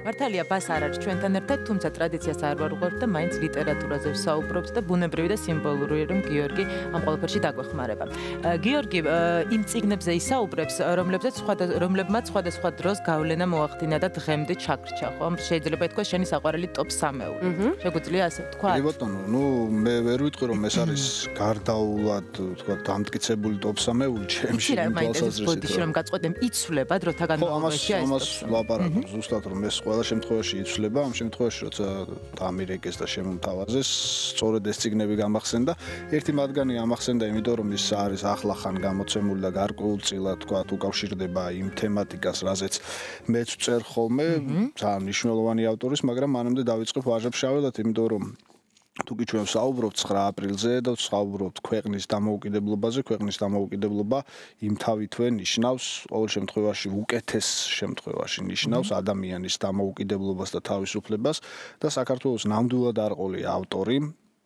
მართალია ბას არ არის ჩვენთან ერთად, თუმცა ტრადიციას არ ვარუღებთ და მაინც ლიტერატურაზე ვსაუბრობთ და ბუნებრივი და სიმბოლურია რომ გიორგი ამ ყველაფერში დაგვეხმარება. გიორგი იმ წიგნებზე ისაუბრებს, რომლებმაც სხვადასხვა დროს გავლენა მოახდინა და დღემდე ჩაგრჩა, ხო? შეიძლება ითქვას შენი საყვარელი ტოპ 3-ეული. შეგვიძლია ასე ვთქვა? კი ბატონო, მე ვერ ვიტყვი რომ ეს არის გარდაულად, თქვა, დამტკიცებული ტოპ 3-ეული ჩემში თვალსაზრისით. ბოდიში რომ გაწყვეტენ იცვლება დროთა განმავლობაში ეს. ამას ლაპარაკობ ზუსტად რომ ეს ყველა შემთხვევაში იცვლება, ამ შემთხვევაში როცა დამირეკეს და შემომთავაზეს, სწორედ ეს წიგნები გამახსენდა. ერთი მათგანი ამახსენდა, იმიტომ რომ ის არის ახლახან გამოცემული და გარკვეულწილად თქვა უკავშირდება იმ თემატიკას, რაზეც მეც ვწერ ხოლმე, ძალიან მნიშვნელოვანი ავტორის, მაგრამ მანამდე დავიწყებ ვაჟა-ფშაველად, იმიტომ რომ თუკი ჩვენ ვსაუბრობთ 9 აპრილზე და ვსაუბრობთ ქვეყნის დამოუკიდებლობაზე, ქვეყნის დამოუკიდებლობა იმთავითვე ნიშნავს, ყოველ შემთხვევაში უკეთეს შემთხვევაში ნიშნავს ადამიანის დამოუკიდებლობას და თავისუფლებას და საქართველოს ნამდვილად არყოლი ავტორი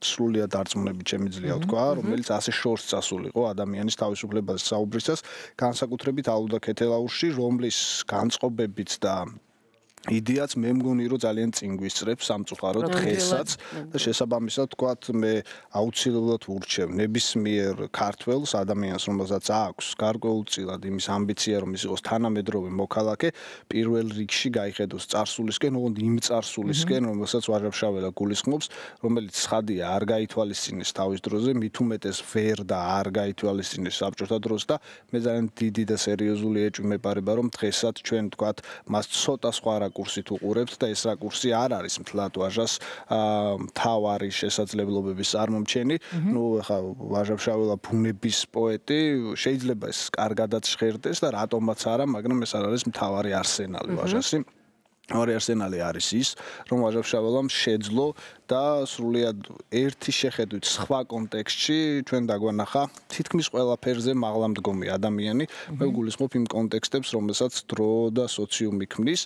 სრულიად არწმუნებით შემიძლია ვთქვა, რომელიც ასე შორს წასულიყო ადამიანის თავისუფლებაზე საუბრისას, განსაკუთრებით ალუდა ქეთელაურში, რომლის განწყობებით და იდეაც მე მგონი რომ ძალიან წინ გვისწრებს სამწუხაროდ დღესაც და შესაბამისად თქვათ მე აუცილებლად ვურჩევ ნებისმიერ ქართველს ადამიანს რომელსაც აქვს გარკვეულწილად იმის ამბიცია რომ ის იყოს თანამედროვე მოქალაქე პირველ რიგში გაიხედოს წარსულისკენ ოღონდ იმ წარსულისკენ რომელსაც ვაჟა-ფშაველა გულისხმობს რომელიც ცხადია არ გაითვალისწინეს თავის დროზე მით უმეტეს ვერ და არ გაითვალისწინეს საბჭოთა დროს და მე ძალიან დიდი და სერიოზული ეჭვი მეპარება რომ დღესაც ჩვენ თქვათ მას ცოტა სხვა კურსით უყურებთ და ეს რაკურსი არ არის მთლად ვაჟას თავარი შესაძლებლობების წარმომჩენი. ნუ ახლა ვაჟა-ფშაველა ბუნების პოეტი, შეიძლება ეს კარგადაც ჟღერდეს და რატომაც არა, მაგრამ ეს არ არის მთავარი არსენალი ვაჟასი. მთავარი არსენალი არის ის, რომ ვაჟა-ფშაველამ შეძლო და სრულიად ერთი შეხედვით სხვა კონტექსტში ჩვენ დაგვანახა თითქმის ყველაფერზე მაღლამდგომი ადამიანი. მე ვგულისხმობ იმ კონტექსტებს, რომელსაც დრო და სოციუმი ქმნის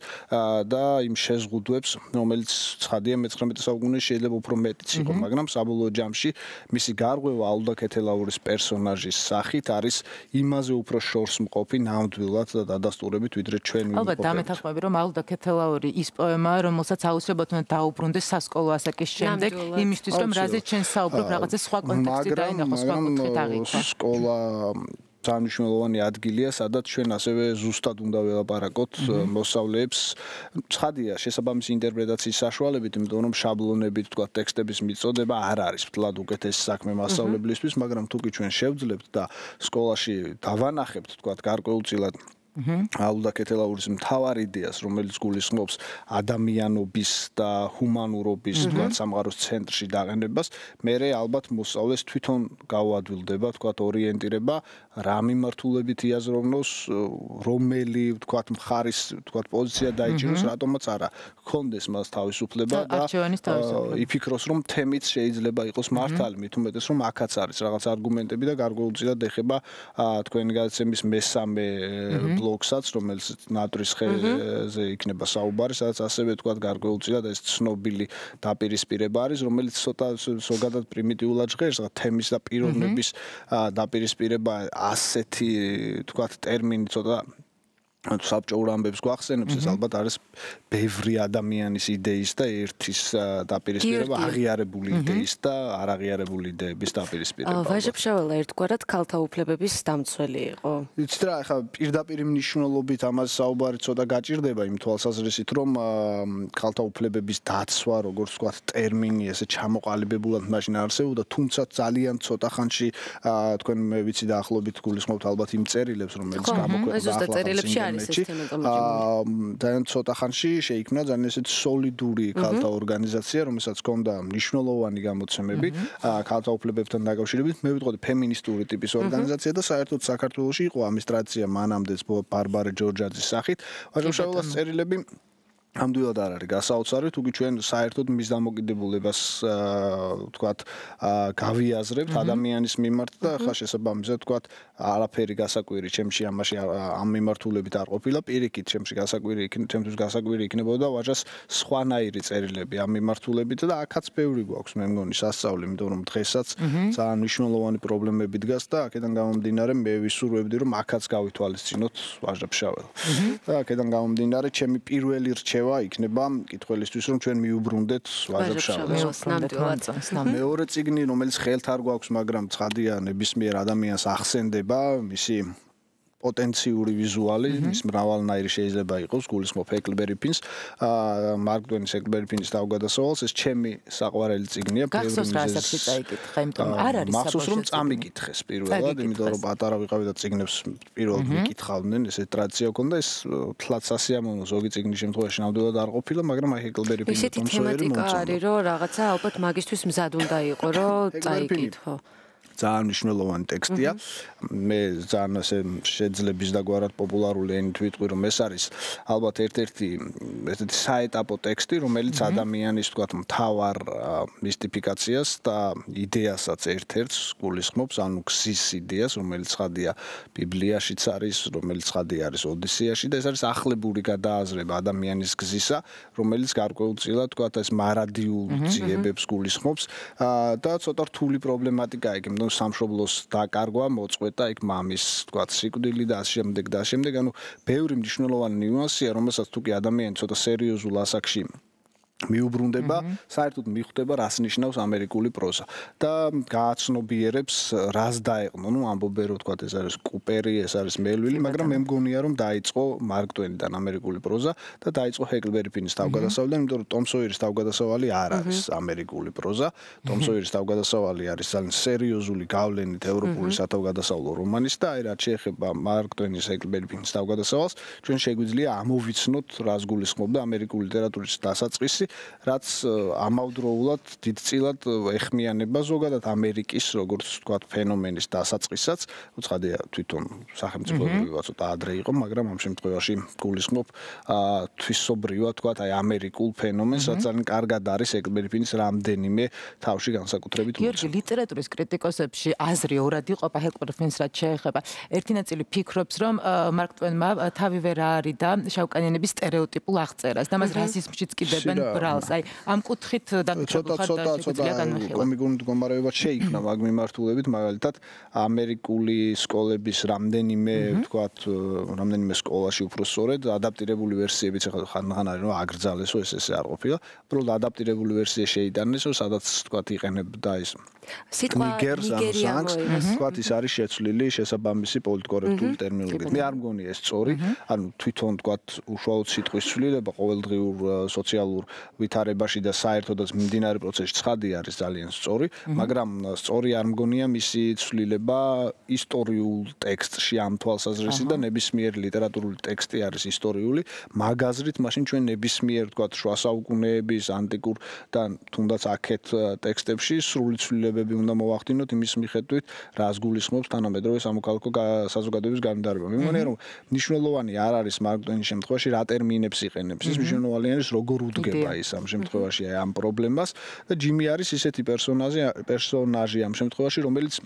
და იმ შეზღუდვებს, რომელიც ცხადია მე-19 საუკუნეში შეიძლება უფრო მეტიც იყო, მაგრამ საბოლოო ჯამში მისი გარღვევა ალუდა ქეთელაურის პერსონაჟის სახით არის იმაზე უფრო შორს მყოფი ნამდვილად და დადასტურებით, ვიდრე ჩვენ ვიმყოფებით. ალბათ დამეთანხმები, რომ ალუდა ქეთელაური ის პოემა, რომელსაც აუცილებლად უნდა დაუბრუნდეს სასკოლო ასაკის შემდეგ იმისთვის რომ რაზეც ჩვენ საუბრობ რაღაცა სხვა კონტექსტი დაინახოს სხვა კუთხით აღიქვა. სკოლა ძალიან მნიშვნელოვანი ადგილია, სადაც ჩვენ ასევე ზუსტად უნდა ველაპარაკოთ მოსწავლეებს. ცხადია, შესაბამისი ინტერპრეტაციის საშუალებით, იმიტომ რომ შაბლონებით, თქვა, ტექსტების მიწოდება არ არის მთლად უკეთესი საქმე მასწავლებლისთვის, მაგრამ თუკი ჩვენ შევძლებთ და სკოლაში დავანახებთ, თქვა, გარკვეულწილად ალუდა ქეთელაურის მთავარ იდეას, რომელიც გულისხმობს ადამიანობის და ჰუმანურობის თქვა სამყაროს ცენტრში დაყენებას, მერე ალბათ მოსწავლეს თვითონ გაუადვილდება, თქვა, ორიენტირება რა მიმართულებით იაზროვნოს, რომელი თქვა მხარის თქვა პოზიცია დაიჭიროს, რატომაც არა, გქონდეს მას თავისუფლება და იფიქროს, რომ თემიც შეიძლება იყოს მართალი, მით უმეტეს რომ აქაც არის რაღაც არგუმენტები და გარკვეულწილად ეხება თქვენი გადაცემის მესამე ბლოგსაც, რომელიც ნატრის ხეზე იქნება საუბარი, სადაც ასევე თქვა გარკვეულწილად ეს ცნობილი დაპირისპირება არის, რომელიც ცოტა ზოგადად პრიმიტიულად ჟღერს, თემის და პიროვნების დაპირისპირება ასეთი თქვა ტერმინი ცოტა საბჭოურ ამბებს გვახსენებს, ეს ალბათ არის ბევრი ადამიანის იდეის და ერთის დაპირისპირება, აღიარებული იდეის და არაღიარებული იდეების დაპირისპირება. ვაჟა-ფშაველა ერთგვარად ქალთა უფლებების დამცველი იყო. იცით რა, ახლა პირდაპირ მნიშვნელობით ამაზე საუბარი ცოტა გაჭირდება იმ თვალსაზრისით, რომ ქალთა უფლებების დაცვა, როგორც ვთქვათ, ტერმინი ესე ჩამოყალიბებულად მაშინ არსებობდა, თუმცა ძალიან ცოტა ხანში თქვენ მე ვიცი და ახლობით გულისხმობთ ალბათ იმ წერილებს, რომელიც გამოქვეყნდა ძალიან ცოტა ხანში შეიქმნა ძალიან ესეთ სოლიდური ქალთა ორგანიზაცია, რომელსაც ჰქონდა მნიშვნელოვანი გამოცემები ქალთა უფლებებთან დაკავშირებით. მე ვიტყოდი ფემინისტური ტიპის ორგანიზაცია და საერთოდ საქართველოში იყო ამის ტრადიცია მანამდეც ბარბარე ჯორჯაძის სახით. ვაჟა-ფშაველას წერილები ამდვილად არ არის გასაოცარი, თუკი ჩვენ საერთოდ მის დამოკიდებულებას ვთქვათ გავიაზრებთ ადამიანის მიმართ და ხა შესაბამისად ვთქვათ არაფერი გასაკვირი ჩემში ამაში ამ მიმართულებით არ ყოფილა, პირიქით ჩემთვის გასაკვირი იქნებოდა ვაჟას სხვანაირი წერილები ამ მიმართულებით და აქაც ბევრი გვაქვს მე მგონი სასწაული, იმიტომ რომ დღესაც ძალიან მნიშვნელოვანი პრობლემები დგას და აქედან გამომდინარე მე ვისურვებდი რომ აქაც გავითვალისწინოთ ვაჟა-ფშაველა. და აქედან გამომდინარე ჩემი პირველი რჩევა რჩევა იქნება მკითხველისთვის, რომ ჩვენ მიუბრუნდეთ ვაჟა-ფშაველს. მეორე წიგნი, რომელიც ხელთ არ გვაქვს, მაგრამ ცხადია ნებისმიერ ადამიანს ახსენდება, მისი პოტენციური ვიზუალი, ის მრავალნაირი შეიძლება იყოს, გულისხმობ ჰეკლბერი ფინს, მარკ ტვენის ჰეკლბერი ფინის თავგადასავალს, ეს ჩემი საყვარელი წიგნია, გახსოვს რა ასაკში წაიკითხა, იმიტომ არ არის მახსოვს რომ წამიკითხეს პირველად, იმიტომ რომ პატარა ვიყავი და წიგნებს პირველად ვიკითხავდნენ, ესეთი ტრადიცია ჰქონდა, ეს თლაც სასიამოვნო ზოგი წიგნის შემთხვევაში ნამდვილად არ ყოფილა, მაგრამ აი ჰეკლბერი ფინის ისეთი თემატიკა არის, რომ რაღაცა ალბათ მაგისთვის მზად უნდა იყო, რომ წაიკითხო. ძალიან მნიშვნელოვანი ტექსტია. მე ძალიან ასე შეძლების დაგვარად პოპულარული ენით ვიტყვი, რომ ეს არის ალბათ ერთ-ერთი ესეთი საეტაპო ტექსტი, რომელიც ადამიანის თქვათ მთავარ მისტიფიკაციას და იდეასაც ერთ-ერთს გულისხმობს, ანუ გზის იდეას, რომელიც ცხადია ბიბლიაშიც არის, რომელიც ცხადია არის ოდისეაში და ეს არის ახლებური გადააზრება ადამიანის გზისა, რომელიც გარკვეულწილად თქვათ ეს მარადიულ ძიებებს გულისხმობს და ცოტა რთული პრობლემატიკაა იქ. სამშობლოს დაკარგვა, მოწყვეტა იქ მამის, თქვათ, სიკვდილი და ასე შემდეგ, ანუ ბევრი მნიშვნელოვანი ნიუანსია, რომელსაც თუ კი ადამიანი ცოტა სერიოზულ ასაკში მიუბრუნდება, საერთოდ მიხვდება, რას ნიშნავს ამერიკული პროზა და გააცნობიერებს, რას დაეყნო. ნუ ამბობენ, რომ თქვათ, ეს არის კუპერი, ეს არის მელვილი, მაგრამ მე მგონია, რომ დაიწყო მარკ ტვენიდან ამერიკული პროზა და დაიწყო ჰეკლბერი ფინის თავგადასავლიდან, იმიტომ რომ ტომ სოიერის თავგადასავალი არ არის ამერიკული პროზა. ტომ სოიერის თავგადასავალი არის ძალიან სერიოზული გავლენით ევროპული სათავგადასავლო რომანის და აი რაც შეეხება მარკ ტვენის ჰეკლბერი ფინის თავგადასავალს, ჩვენ შეგვიძლია ამოვიცნოთ, რას გულისხმობდა ამერიკული ლიტერატურის დასაწყისი, რაც ამავდროულად დიდწილად ეხმიანება ზოგადად ამერიკის როგორც თქვათ ფენომენის დასაწყისაც, უცხადია თვითონ სახელმწიფოებრივად ცოტა ადრე იყო, მაგრამ ამ შემთხვევაში გულისხმობ თვისობრივად თქვათ აი ამერიკულ ფენომენს, რაც ძალიან კარგად არის ჰეკლბერი ფინის რამდენიმე თავში განსაკუთრებით მოწმე. გიორგი, ლიტერატურის კრიტიკოსებში აზრი ორად იყოფა ჰეკლბერი ფინის რაც შეეხება. ერთი ნაწილი ფიქრობს, რომ მარკ ტვენმა თავი ვერ არიდა შავკანიანების სტერეოტიპულ აღწერას და მას რასიზმშიც კიდებენ ბრალს. აი, ამ კუთხით დაგჭირდა და შეგვიძლია განვიხილოთ. კომიკური მდგომარეობა შეიქმნა მაგ მიმართულებით, მაგალითად, ამერიკული სკოლების რამდენიმე, თქვათ, რამდენიმე სკოლაში უფრო სწორედ ადაპტირებული ვერსიებიც ახლა ხან არის, რომ აგრძალესო ეს არ ყოფილა. უბრალოდ ადაპტირებული ვერსია შეიტანეს, სადაც თქვათ იყენებდა ის ნიგერს, თქვათ, ის არის შეცვლილი შესაბამისი პოლიტკორექტული ტერმინოლოგიით. მე არ მგონია ეს სწორი, ანუ თვითონ თქვათ, უშუალოდ სიტყვის ცვლილება ყოველდღიურ სოციალურ ვითარებაში და საერთოდაც მიმდინარე პროცესში ცხადი არის ძალიან სწორი, მაგრამ სწორი არ მგონია მისი ცვლილება ისტორიულ ტექსტში ამ თვალსაზრისით და ნებისმიერი ლიტერატურული ტექსტი არის ისტორიული, მაგაზრით მაშინ ჩვენ ნებისმიერ თქვათ შუა საუკუნეების ანტიკურ და თუნდაც აქეთ ტექსტებში სრული ცვლილებები უნდა მოვახდინოთ იმის მიხედვით, რას გულისხმობს თანამედროვე სამოქალაქო საზოგადოების განვითარება. მე მგონია, რომ მნიშვნელოვანი არ არის მარკ ტვენის შემთხვევაში რა ტერმინებს იყენებს, ის მნიშვნელოვანი არის როგორ უდგება ის ამ შემთხვევაში ამ პრობლემას და ჯიმი არის ისეთი პერსონაჟი ამ შემთხვევაში, რომელიც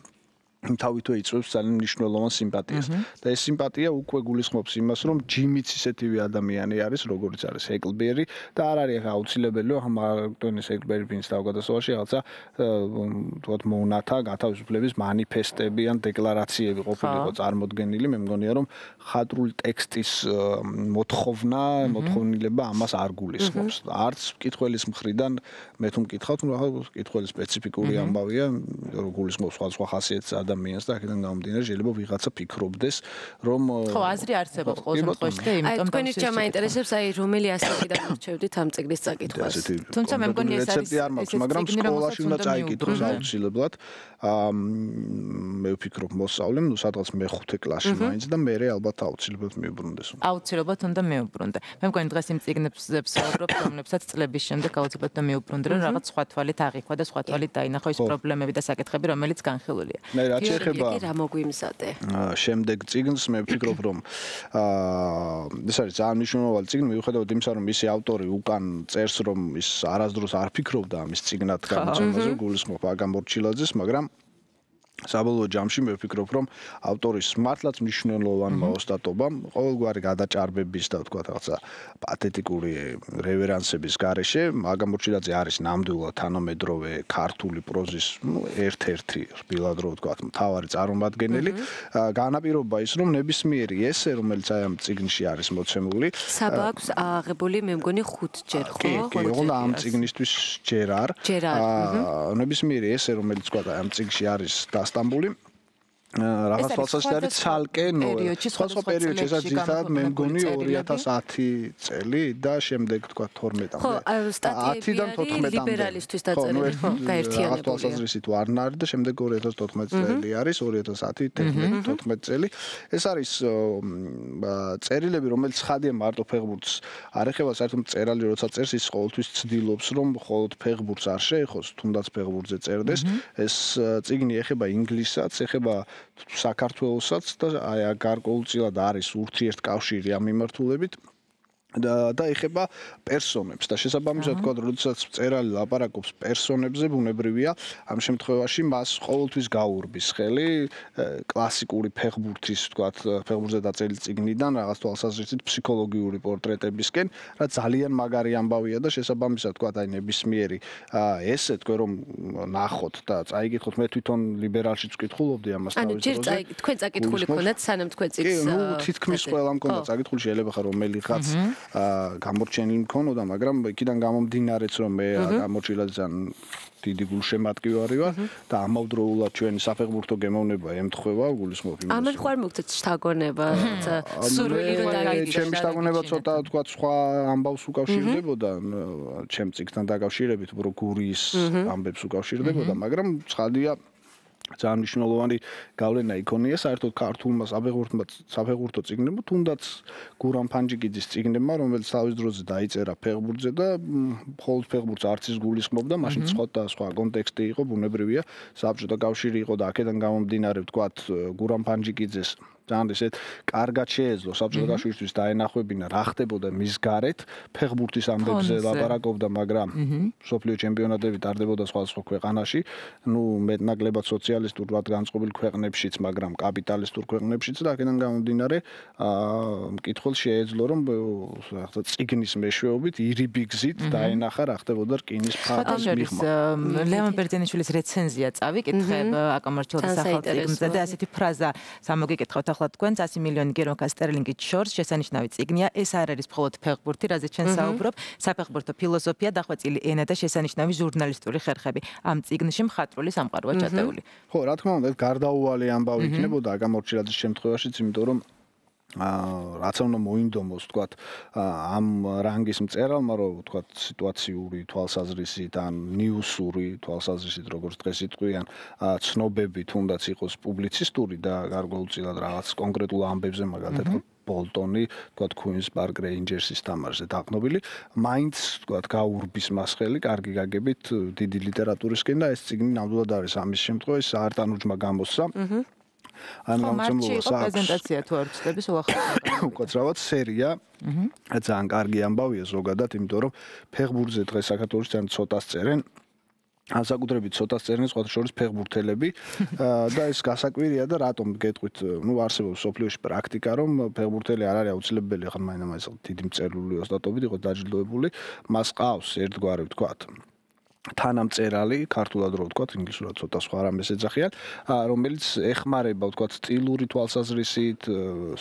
თავითვე იწვევს ძალიან მნიშვნელოვან სიმპათიას და ეს სიმპათია უკვე გულისხმობს იმას, რომ ჯიმიც ისეთივე ადამიანი არის, როგორც არის ჰეკლბერი და არ არის აუცილებელი, რომ მარკ ტვენის ჰეკლბერი ფინის თავგადასავალში რაღაცა თქვათ მონათა გათავისუფლების მანიფესტები ან დეკლარაციები ყოფილიყო წარმოდგენილი. მე მგონია, რომ ხატრული ტექსტის მოთხოვნილება ამას არ გულისხმობს. არც მკითხველის მხრიდან მე თუ მკითხავთ, მკითხველის სპეციფიკური ამბავია, რომ გულისხმობს სხვადასხვა ხასიათის ადამიანს და აქედან გამომდინარე შეიძლება ვიღაცა ფიქრობდეს, რომ ხო, აზრი არსებობს ყოველ შემთხვევაში და იმიტომ თქვენი რჩევა მაინტერესებს, აი რომელი ასაკიდან მორჩევდით ამ წიგნის წაკითხვას. თუმცა მე მგონია ეს არის მაგრამ სკოლაში უნდა წაიკითხოს აუცილებლად. მე ვფიქრობ მოსწავლემ, ნუ სადღაც მე-5 კლასში მაინც და მე ალბათ აუცილებლად მიუბრუნდეს. აუცილებლად უნდა მიუბრუნდე. მე მგონი დღეს იმ წიგნებს ვსაუბრობ, რომლებსაც წლების შემდეგ აუცილებლად უნდა მიუბრუნდე, რომ რაღაც სხვა თვალით აღიქვა და სხვა თვალით დაინახო ის პრობლემები და საკითხები, რომელიც განხილულია. რაც შეეხება რა მოგვიმზადე. შემდეგ წიგნს მე ვფიქრობ, რომ ეს არის ძალიან მნიშვნელოვანი წიგნი, მიუხედავად იმისა, რომ მისი ავტორი უკან წერს, რომ ის არასდროს არ ფიქრობდა ამის წიგნად გამოწვევაზე, გულისხმობ აგამ მორჩილაძეს, მაგრამ საბოლოო ჯამში მე ვფიქრობ, რომ ავტორის მართლაც მნიშვნელოვანმა ოსტატობამ ყოველგვარი გადაჭარბების და თქვა რაღაცა პათეტიკური რევერანსების გარეშე მაგამორჩილაძე არის ნამდვილად თანამედროვე ქართული პროზის ერთ-ერთი რბილად რო ვთქვა მთავარი წარმომადგენელი. განაპირობა ის, რომ ნებისმიერი ესე, რომელიც აი ამ წიგნში არის მოცემული, საბა აქვს აღებული, მე მგონი 5 ჯერ, ხო? კი, ამ წიგნისთვის ჯერ არ. ნებისმიერი ესე, რომელიც თქვა აი ამ წიგნში არის სტამბული რაღაც თვალსაჩინო ცალკე ნოველა. სხვა პერიოდში ესაც ძირითადად მე მგონი 2010 წელი და შემდეგ თქვა 12-მდე. ხო, სტატიებიდან 14-მდე. ლიბერალისტვის დაწერილი, ხო, გაერთიანებული. თვალსაზრისით ვარნა არის და შემდეგ 2014 წელი არის, 2010, 14 წელი. ეს არის წერილები, რომელიც ხადია მარტო ფეხბურთს არ ეხება, საერთოდ მწერალი როცა წერს ის ყოველთვის ცდილობს, რომ მხოლოდ ფეხბურთს არ შეეხოს, თუნდაც ფეხბურთზე წერდეს. ეს წიგნი ეხება ინგლისსაც, ეხება საქართველოსაც და აი გარკვეულწილად არის ურთიერთკავშირი ამ მიმართულებით და ეხება პერსონებს და შესაბამისად თქვა როდესაც მწერალი ლაპარაკობს პერსონებზე ბუნებრივია ამ შემთხვევაში მას ყოველთვის გაურბის ხელი კლასიკური ფეხბურთის თქვა ფეხბურთზე დაწერილი წიგნიდან რაღაც თვალსაზრისით ფსიქოლოგიური პორტრეტებისკენ რა ძალიან მაგარი ამბავია და შესაბამისად თქვა აი ნებისმიერი ესე თქვენ რომ ნახოთ და წაიგითხოთ მე თვითონ ლიბერალშიც ვკითხულობდი ამას თავის დროზე ანუ ჯერ თქვენ წაკითხული ქონდათ სანამ თქვენ წიგნს კი ნუ თითქმის ყველა მქონდა წაკითხული შეიძლება ხარ რომელი ხაც გამორჩენილი მქონოდა, მაგრამ იქიდან გამომდინარეც რომ მე გამორჩილაძე დიდი გულშემატკივარი ვარ და ამავდროულად ჩვენი საფეხბურთო გემოვნება ემთხვევა გულისხმობ იმას. ამან ხარ მოგწეთ შთაგონება, სურვილი რომ დაიგიგო. ჩემი შთაგონება ცოტა თქვა სხვა ამბავს უკავშირდებოდა, ჩემ წიგნთან დაკავშირებით, უფრო გურიის ამბებს უკავშირდებოდა, მაგრამ ცხადია ძალიან მნიშვნელოვანი გავლენა იქონია საერთოდ ქართულმა საფეხბურთო წიგნებმა, თუნდაც გურამ ფანჯიკიძის წიგნებმა, რომელიც თავის დროზე დაიწერა ფეხბურთზე და მხოლოდ ფეხბურთს არც ის გულისხმობდა, მაშინ სხვა კონტექსტი იყო, ბუნებრივია, საბჭოთა კავშირი იყო და აქედან გამომდინარე ვთქვათ გურამ ფანჯიკიძეს ძალიან ისეთ კარგად შეეძლო საბჭოთა კავშირისთვის დაენახვებინა რა ხდებოდა მის გარეთ ფეხბურთის ამბებზე ლაპარაკობდა მაგრამ მსოფლიო ჩემპიონატები ტარდებოდა სხვადასხვა ქვეყანაში ნუ მეტნაკლებად სოციალისტურად განწყობილ ქვეყნებშიც მაგრამ კაპიტალისტურ ქვეყნებშიც და აქედან გამომდინარე მკითხველს შეეძლო რომ რაღაცა წიგნის მეშვეობით ირიბი გზით დაენახა რა ხდებოდა რკინის ფარდის მიღმა ლევან ბერძენიშვილის რეცენზია წავიკითხებ აკამარჩილაძის ახალ წიგნზე და ასეთი ფრაზა სამოგიკითხავთ ახლა თქვენ 100 მილიონი გერონკა სტერლინგით შორს შესანიშნავი წიგნია ეს არ არის მხოლოდ ფეხბურთი რაზეც ჩვენ საუბრობ საფეხბურთო ფილოსოფია დახვეწილი ენა და შესანიშნავი ჟურნალისტური ხერხები ამ წიგნში მხატვრული სამყაროა ჩატეული ხო რა თქმა უნდა ეს გარდაუვალი ამბავი იქნებოდა აკამორჩილაძის შემთხვევაშიც იმიტომ რომ რაც უნდა მოინდომოს თქვათ ამ რანგის მწერალმა რომ თქვათ სიტუაციური თვალსაზრისით ან ნიუსური თვალსაზრისით როგორც დღეს იტყვიან ცნობები თუნდაც იყოს პუბლიცისტური და გარკვეულწილად რაღაც კონკრეტულ ამბებზე მაგალითად ბოლტონი თქვათ Queen's Park Rangers-ის თამაშზე დაყნობილი მაინც თქვათ გაურბის მასხელი კარგი გაგებით დიდი ლიტერატურისკენ და ეს წიგნი ნამდვილად არის ამის შემთხვევაში საარტანუჯმა გამოსცა ან გამოცემულობა პრეზენტაცია თუ არ ვწდების უახლოესი უკაცრავად სერია ძალიან კარგი ამბავია ზოგადად იმიტომ რომ ფეხბურთზე დღეს საქართველოში ძალიან ცოტას წერენ განსაკუთრებით ცოტას წერენ სხვა შორის ფეხბურთელები და ეს გასაკვირია და რატომ გეტყვით ნუ არსებობს სოფლიოში პრაქტიკა რომ ფეხბურთელი არ არის აუცილებელი ხან მაინც დიდი მწერლული ოსტატობით იყოს დაჯილდოებული მას ყავს ერთგვარი ვთქვათ თანამწერალი ქართულად რო ვთქვათ ინგლისურად ცოტა სხვა რამეს ეძახიან რომელიც ეხმარება ვთქვათ სტილური თვალსაზრისით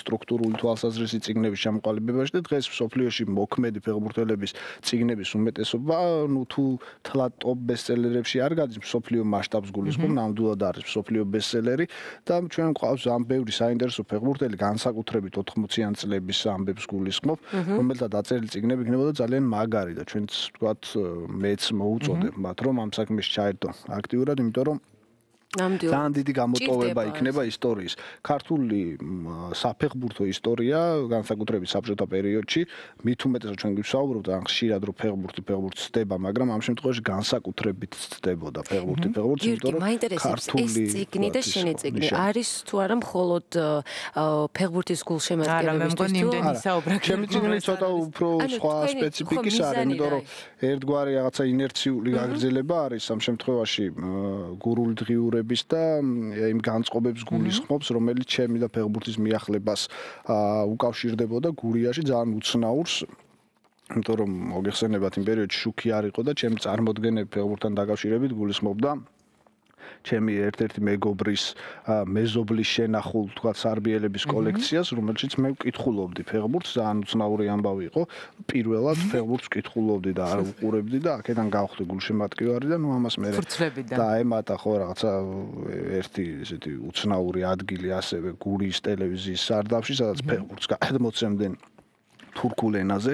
სტრუქტურული თვალსაზრისით წიგნების ჩამოყალიბებაში და დღეს სოფლიოში მოქმედი ფეხბურთელების წიგნების უმეტესობა ნუ თუ თლად ტოპ ბესტსელერებში არ გადის სოფლიო მასშტაბს გულისხმობ ნამდვილად არის სოფლიო ბესტსელერი და ჩვენ გვყავს ამ ბევრი საინტერესო ფეხბურთელი განსაკუთრებით 80-იან წლების ამბებს გულისხმობ რომელთა დაწერილი წიგნები იქნებოდა ძალიან მაგარი და ჩვენც ვთქვათ მეც მოუწოდებ მათ რომ ამ საქმეში ჩაერთო აქტიურად, იმიტომ რომ ძალიან დიდი გამოტოვება იქნება ისტორიის. ქართული საფეხბურთო ისტორია, განსაკუთრებით საბჭოთა პერიოდში, მით უმეტესად ჩვენ გვისაუბრობთ ან ხშირად რომ ფეხბურთი ცდება, მაგრამ ამ შემთხვევაში განსაკუთრებით ცდებოდა ფეხბურთი, იმიტომ რომ ქართული ეს წიგნი და შენი წიგნი არის თუ არა მხოლოდ ფეხბურთის გულშემატკივრებისთვის თუ ჩემი წიგნი ცოტა უფრო სხვა სპეციფიკის არის, იმიტომ რომ ერთგვარი რაღაცა ინერციული გაგრძელება არის ამ შემთხვევაში გურული დღიურები ფერმერების და იმ განწყობებს გულისხმობს, რომელიც ჩემი და ფეხბურთის მიახლებას უკავშირდებოდა გურიაში ძალიან უცნაურს. იმიტომ რომ მოგეხსენებათ იმ პერიოდში შუქი არ იყო და ჩემი წარმოდგენები ფეხბურთთან დაკავშირებით გულისხმობდა ჩემი ერთ-ერთი მეგობრის მეზობლის შენახულ თქვა სარბიელების კოლექციას, რომელშიც მე ვკითხულობდი ფეხბურთს, ძალიან უცნაური ამბავი იყო. პირველად ფეხბურთს ვკითხულობდი და არ ვუყურებდი და აქედან გავხდი გულშემატკივარი და ამას მე დაემატა ხო რაღაცა ერთი ესეთი უცნაური ადგილი ასევე გურიის ტელევიზიის სარდაფში, სადაც ფეხბურთს გადმოცემდნენ თურქულ ენაზე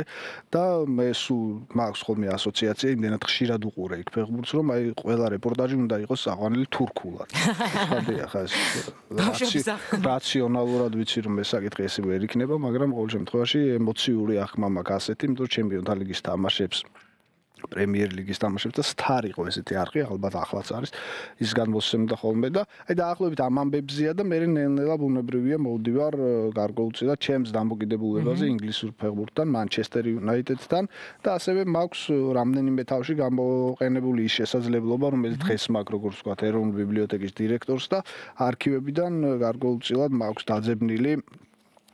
და მე სულ მაქვს ხოლმე ასოციაცია იმდენად ხშირად უყურე იქ ფეხბურთს რომ აი ყველა რეპორტაჟი უნდა იყოს აყვანილი თურქულად. ხა ეს რაციონალურად ვიცი რომ ეს საკითხი ესე ვერ იქნება, მაგრამ ყოველ შემთხვევაში ემოციური აღქმა მაქვს ასეთი, იმიტომ რომ ჩემპიონთა ლიგის თამაშებს პრემიერ ლიგის თამაშებს და სტარ იყო ესეთი არხი, ალბათ ახლაც არის. ის განმოსცემდა ხოლმე და აი დაახლოებით ამ ამბებზია და მე ნელ-ნელა ბუნებრივია მოვდივარ გარკვეულწილად ჩემს დამოკიდებულებაზე ინგლისურ ფეხბურთთან, Manchester United-თან და ასევე მაქვს რამდენიმე თავში გამოყენებული ის შესაძლებლობა, რომელიც დღეს მაქვს როგორც ვთქვათ, ეროვნული ბიბლიოთეკის დირექტორს და არქივებიდან გარკვეულწილად მაქვს დაძებნილი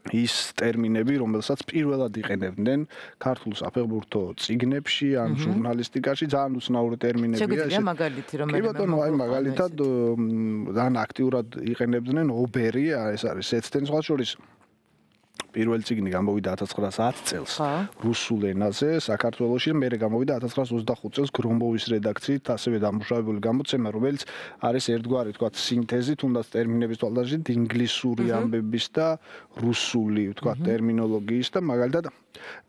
ის ტერმინები, რომელსაც პირველად იყენებდნენ ქართულ საფეხბურთო წიგნებში ან ჟურნალისტიკაში, ძალიან უცნაური ტერმინებია. შეგვიძლია მაგალითი რომ კი ბატონო, აი მაგალითად ძალიან აქტიურად იყენებდნენ ობერი, ეს არის ეცდენ სხვა შორის პირველი წიგნი გამოვიდა 1910 წელს რუსულ ენაზე საქართველოში, მერე გამოვიდა 1925 წელს გრომბოვის რედაქციით, ასევე დამუშავებული გამოცემა, რომელიც არის ერთგვარი, თქვათ, სინთეზი, თუნდაც ტერმინების თვალსაზრისით ინგლისური ამბების და რუსული, თქვათ, ტერმინოლოგიის და მაგალითად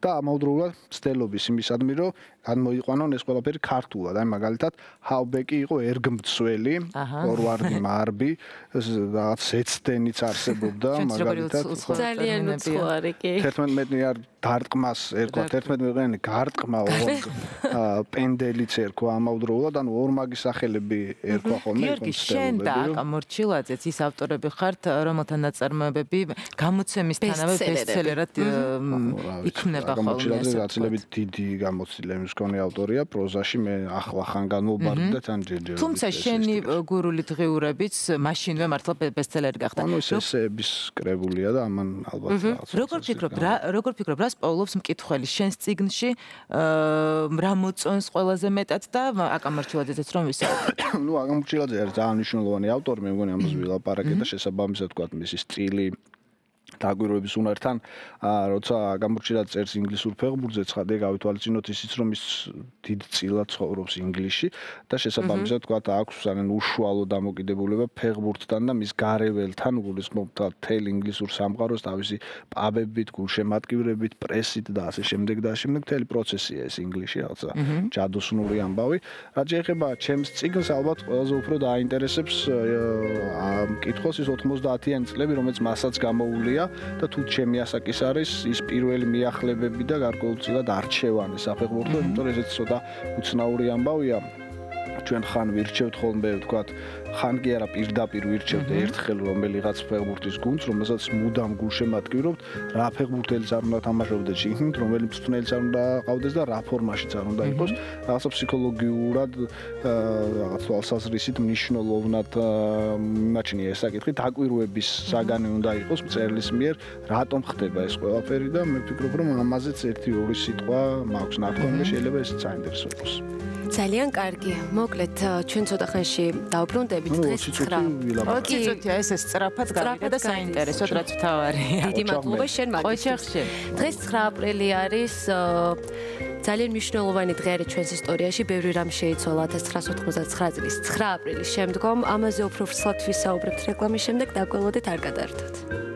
და ამავდროულად მცდელობის იმისადმი, რომ განმოიყვანონ ეს ყველაფერი ქართულად. აი მაგალითად, ჰაუბეკი იყო ერგმცველი, ფორვარდი მარბი, რაღაც ეცდენიც არსებობდა, მაგალითად ძალიან უცხოარი კი 11 მეტრიან დარტყმას ერქვა 11 მეტრიანი გარტყმა პენდელიც ერქვა ამავდროულად, ანუ ორმაგი სახელები ერქვა ხოლმე. გიორგი, შენ და აკა მორჩილაძეც ის ავტორები ხართ, რომელთა ნაწარმოებები გამოცემისთანავე ბესტსელერად იქნება ხოლმე. მორჩილაძე გაცილებით დიდი გამოცდილების მქონე ავტორია, პროზაში მე ახლახან განმოვბარდი და თან ჯერჯერობით. თუმცა შენი გურული დღიურებიც მაშინვე მართლა ბესტსელერი გახდა. ანუ ეს ესეების კრებულია და ამან ალბათ როგორ ფიქრობ, რას პოულობს მკითხველი შენს წიგნში, რა მოწონს ყველაზე მეტად და აკა მორჩილაძეც რომ ვისაუბროთ. ნუ აკა მორჩილაძე არის ძალიან მნიშვნელოვანი ავტორი, მე მგონი ამას ვილაპარაკე და შესაბამისად თქვა მისი სტილი დაგვირვების უნართან, როცა გამორჩილად წერს ინგლისურ ფეხბურთზე, ცხადია გავითვალისწინოთ ისიც, რომ ის დიდწილად ცხოვრობს ინგლისში და შესაბამისად თქვა აქვს ძალიან უშუალო დამოკიდებულება ფეხბურთთან და მის გარეველთან, გულისხმობდა თელ ინგლისურ სამყაროს, თავისი პაბებით, გულშემატკივრებით, პრესით და ასე შემდეგ და ასე შემდეგ მთელი პროცესია ეს ინგლისში, რაღაცა ჯადოსნური ამბავი. რაც შეეხება ჩემს წიგნს, ალბათ ყველაზე უფრო დააინტერესებს მკითხველს ის 90-იანი წლები, რომელიც მასაც გამოუვლია და თუ ჩემი ასაკის არის ის პირველი მიახლებები და გარკვეულწილად არჩევანი საფეხბურთო, იმიტომ რომ ესეც ცოტა უცნაური ამბავია. ჩვენ ხან ვირჩევთ ხოლმე, ვთქვათ, ხან კი არა პირდაპირ ვირჩევთ ერთხელ რომელიღაც ფეხბურთის გუნდს, რომელსაც მუდამ გულშემატკივრობთ, რა ფეხბურთელიც არ უნდა თამაშობდეს შიგნით, რომელი მწვრთნელიც არ უნდა ყავდეს და რა ფორმაშიც არ უნდა იყოს. რაღაცა ფსიქოლოგიურად რაღაც თვალსაზრისით მნიშვნელოვნად მიმაჩნია ეს საკითხი, დაკვირვების საგანი უნდა იყოს მწერლის მიერ, რატომ ხდება ეს ყველაფერი და მე ვფიქრობ, რომ ამაზეც 1-2 სიტყვა მაქვს ნათქვამი და შეიძლება ეს საინტერესო იყოს. ძალიან კარგი. მოკლედ ჩვენ ცოტა ხანში დავბრუნდებით დღეს 9. ცოტა ეს სწრაფად გავიდა და საინტერესოდ რაც ვთავარია. დიდი მადლობა შენ მაგიჩახში. დღეს 9 აპრილი არის ძალიან მნიშვნელოვანი დღე არის ჩვენს ისტორიაში. ბევრი რამ შეიცვალა 1999 წლის 9 აპრილის შემდგომ. ამაზე უფრო ფრთხილად ვისაუბრებთ რეკლამის შემდეგ. დაგველოდეთ, არ გადაერთოთ.